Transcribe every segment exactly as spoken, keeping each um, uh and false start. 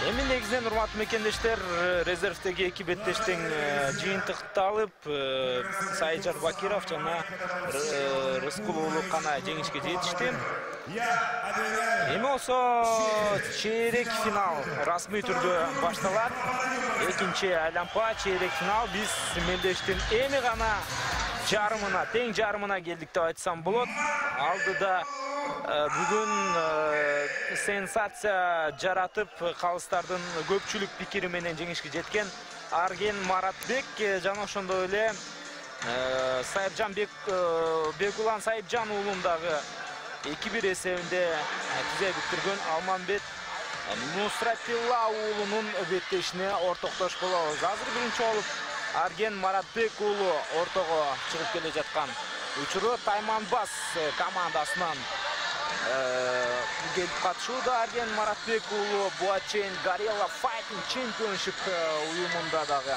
Эми негизинен урматтуу мекендештер, резервдеги эки беттештин жыйынтыкты алып, Сайжар Бакиров жана Рыскул уулу гана жеңишке жетишти. Эми болсо чейрек финал расмий түрдө башталат. Экинчи айлампа чейрек финал. Биз мелдештин эми гана жарымына, тең жарымына келдик деп айтсам болот. Алдыда бүгүн сенсация жаратып, калыстардын көпчүлүк пикири менен жеңишке жеткен Арген Маратбек жана ошондой эле Сайыпжан Бекулан Сайыпжан уулундагы эки бир эсебинде тизе бүктүргөн Алмамбет Нусратилла уулунун беттешине ортоктош болобуз. Азыр биринчи болуп Арген Маратбек уулу ортого чыгып келе жаткан учуру Тайманбас командасынан келип катышууда. Арген Маратбек уулу буга чейин Gorilla Fighting Championship уюмунда дагы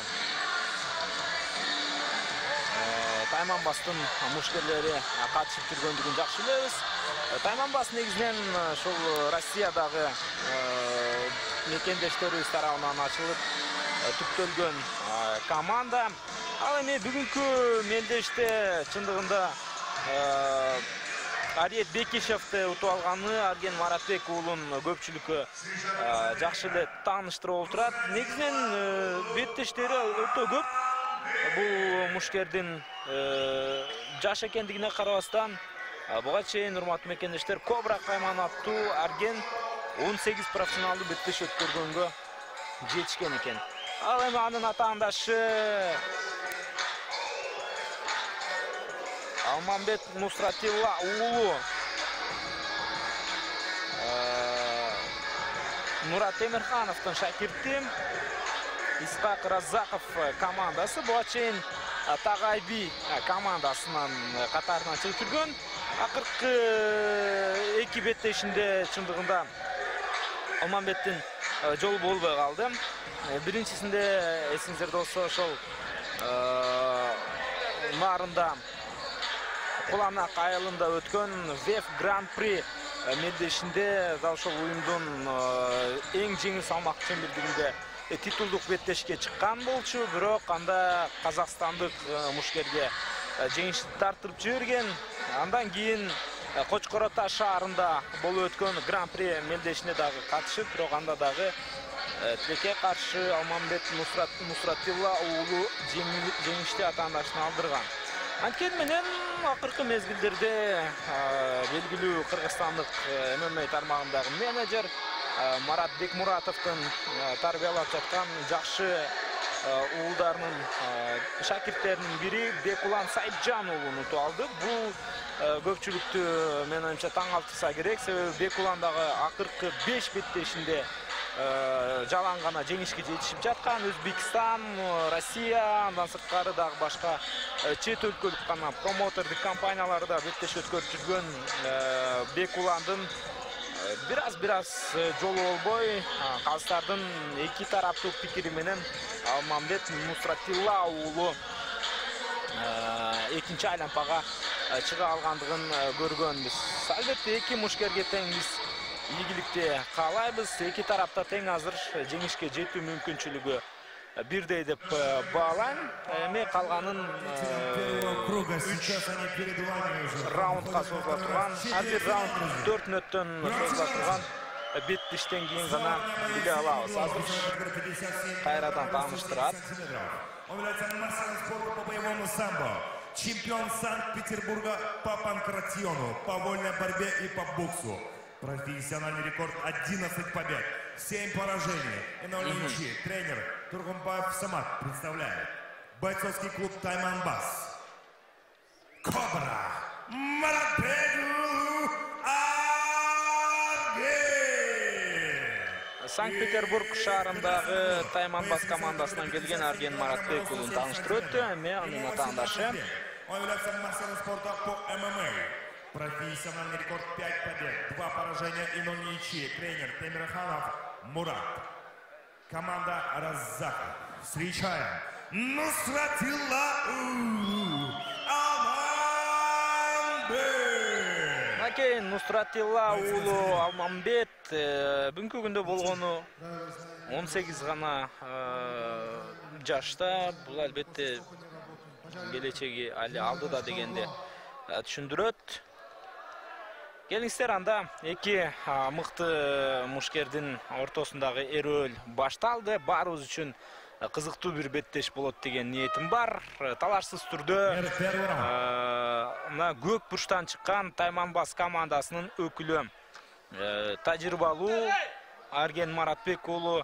Тайманбастын мушкерлери катышып жүргөндүгүн жакшы билебиз. Тайманбас негизинен ошол Россиядагы мекендештерибиз тарабынан ачылып түптөлгөн команда. Ал эми бүгүнкү мелдеште чындыгында Ариет Бекишевди утуп алганы Арген Маратбек уулун көпчүлүккө жакшы эле тааныштырып отурат. Негизинен беттештери өтө көп. Бул мушкердин жаш экендигине карабастан, буга чейин урматтуу мекендештер Кобра Кайман аттуу Арген он сегиз профессионалдуу беттеш өткөргөнгө жетишкен экен. Ал эми анын атаандашы Алмамбет Нусратилла уулу Мурат Темирхановдун шакирти Исхак Разаков командасы буга чейин Тагайби командасынын катарынан чыгып жүргөн. Акыркы эки беттешинде чындыгында Алмамбеттин жолу болбой калды. Биринчисинде эсиңиздерде болсо ошол нарында Куланак айылында өткөн Веф Гран-при мелдешинде ошол уюмдун эң жеңил салмак чембирдигинде титулдук беттешке чыккан болчу, бирок анда казакстандык мушкерге жеңиш тартырып жиберген. Андан кийин Кочкор Ата шаарында болуп өткөн Гран-при мелдешине дагы катышып, бирок анда дагы тилекке каршы Алмамбет Нусратилла уулу жеңишти атаандашына алдырган. Анткени менен акыркы мезгилдерде белгилүү кыргызстандык эм эм а тармагындагы менеджер Марат Бекмуратовдун тарбиялап жаткан жакшы уулдарынын шакирттеринин бири Бекулан Сайыпжан уулун утуп алды. Бул көпчүлүктү менин оюмча таң калтырса керек, себеби Бекулан дагы акыркы беш беттешинде жалаң гана жеңишке жетишип жаткан. Өзбекстан, Россия, андан сырткары дагы башка чет өлкөлүк гана промотордук компанияларда беттеш өткөрүп жүргөн Бекуландын бираз-бираз жолу болбой, калыстардын эки тараптуу пикири менен Алмамбет Нусратилла уулу экинчи айлампага чыга алгандыгын көргөнбүз. Албетте эки мушкерге тең биз ийгиликти каалайбыз. Эки тарапта тең азыр жеңишке жетүү мүмкүнчүлүгү бирдей деп баалайм. Эми калганын раундга созула турган, ар бир раунд төрт мүнөттөн созула турган беттештен кийин гана биле алабыз. Азыр кайрадан тааныштырат. Чемпион Санкт-Петербурга по панкратиону, по вольной борьбе и по боксу. Профессиональный рекорд одиннадцать побед, семь поражений и ноль ничьих. Тренер Тургумбаев Самат представляет бойцовский клуб Тайманбас. Кобра Маратбек Арген. Санкт-Петербург шаарындагы Тайманбас командасынан келген Арген Маратбек уулун тааныштырып өттү. Эми анын атаандашы Он является мастером спорта по эм эм а. Профессиональный рекорд пять побед, два поражения и ноль ничьих. Тренер Темирханов Мурат. Команда Разаков. Встречаем Нусратилла Алмамбет. Накейин Нусратилла уулу Алмамбет бүгүнкү күндө болгону он сегиз гана жашта. Бул албетте келечеги али алдыда дегенди түшүндүрөт. Келиңиздер, анда эки мыкты мушкердин ортосундагы эрөөл башталды. Баарыбыз үчүн кызыктуу бир беттеш болот деген ниетим бар. Талашсыз түрдө мына көк бурчтан чыккан Тайманбас командасынын өкүлү тажрыйбалуу Арген Маратбек уулу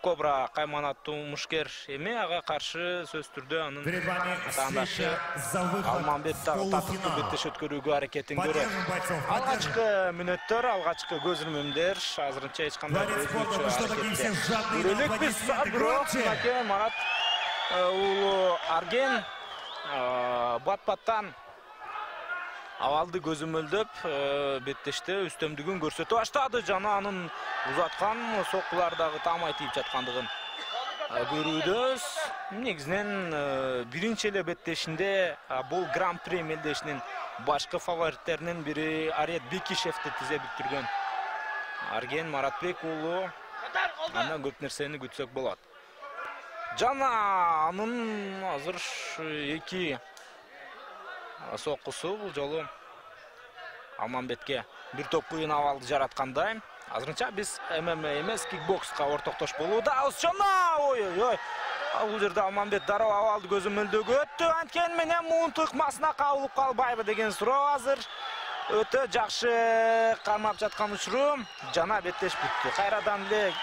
Кобра кайманаттуу мушкер эми, ага каршы сөз түрдө анын атаандашы Алмамбет дагы тартыктуу беттеш өткөрүүгө аракетин көрөт. Алгачкы мүнөттөр, алгачкы көз ирмемдер азырынча эч кандай көрөлүкпүз. Бирок Марат уулу Арген бат-баттан авалды көзөмөлдөп беттеште үстөмдүгүн көрсөтүп баштады. Жана анын узаткан соккулар дагы таамай тийип жаткандыгын көрүүбүз. Негизинен биринчи эле беттешинде бул Гран-при мелдешинин башкы фавориттеринин бири Арет Бекишевди тизе бүктүргөн Арген Маратбек уулу андан көп нерсени күтсөк болот. Жана анын азыр эки соккусу бул жолу Алмамбетке бир топ кыйын абалды жараткандай. Азырынча биз ММА эмес, кикбокска ортоктош болуудабыз. Жана ой-ой-ой. Бул жерде Алмамбет дароо абалды көзөмөлдөгө өттү. Анткени менен муунту ыкмасына кабылып калбайбы деген суроо азыр өтө жакшы кармап жаткан учуру. Жана беттеш бүттү. Кайрадан эле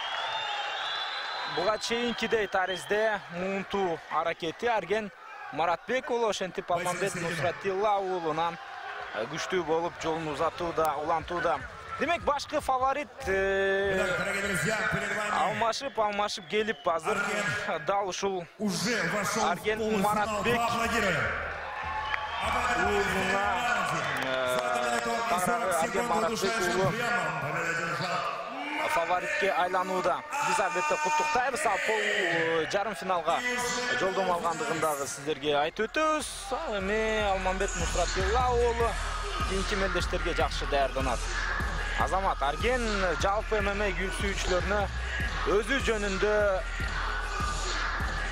буга чейинкидей таризде муунту аракети Арген Маратбек уулу, ошентип Алмамбет Нусратилла уулунан күчтүү болуп жолун узатууда, улантууда. Демек башкы фаворит алмашып алмашып келип азыр дал ушул Арген Маратбек уулуна Арген Маратбек уулу фаворитке айланууда. Биз албетте куттуктайбыз. Ал пол жарым финалга жолдомо алгандыгын дагы сиздерге айтып өтөбүз. Ал эми Алмамбет Нусратилла уулу кийинки мелдештерге жакшы даярданат. Азамат Арген жалпы ММА сүйүүчүлөрүнө өзү жөнүндө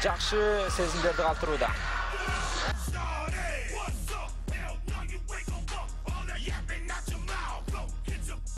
жакшы сезимдерди калтырууда.